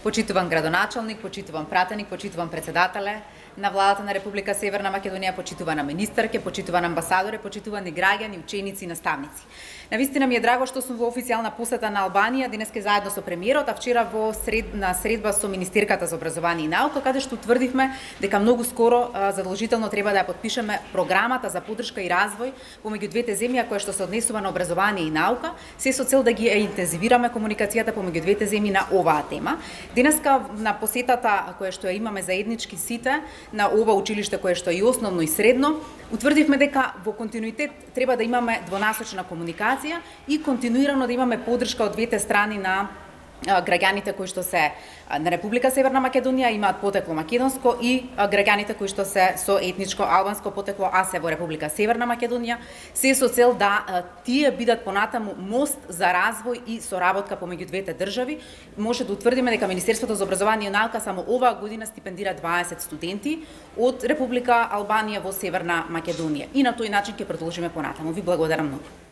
Почитуван градоначалник, почитуван пратеник, почитуван председателе на владата на Република Северна Македонија, почитувана министарке, почитуван амбасадоре, почитувани граѓани, ученици и наставници. Навистина ми е драго што сум во официјална посета на Албанија денеска заедно со премиерот, а вчера на средба со министерката за образование и наука, каде што утврдивме дека многу скоро задолжително треба да ја подпишеме програмата за поддршка и развој помеѓу двете земји, која што се однесува на образование и наука, се со цел да ги интензивираме комуникацијата помеѓу двете земји на оваа тема. Денеска на посетата која што ја имаме заеднички сите на ова училиште кое што е и основно и средно, утврдивме дека во континуитет треба да имаме двонасочна комуникација и континуирано да имаме поддршка од двете страни на граѓаните кои што се на Република Северна Македонија, имаат потекло македонско, и граѓаните кои што се со етничко албанско потекло, а се во Република Северна Македонија, се со цел да тие бидат понатаму мост за развој и соработка помеѓу двете држави. Може да утврдиме дека Министерството за образование и наука само оваа година стипендира 20 студенти од Република Албанија во Северна Македонија. И на тој начин ќе продолжиме понатаму. Ви благодарам многу.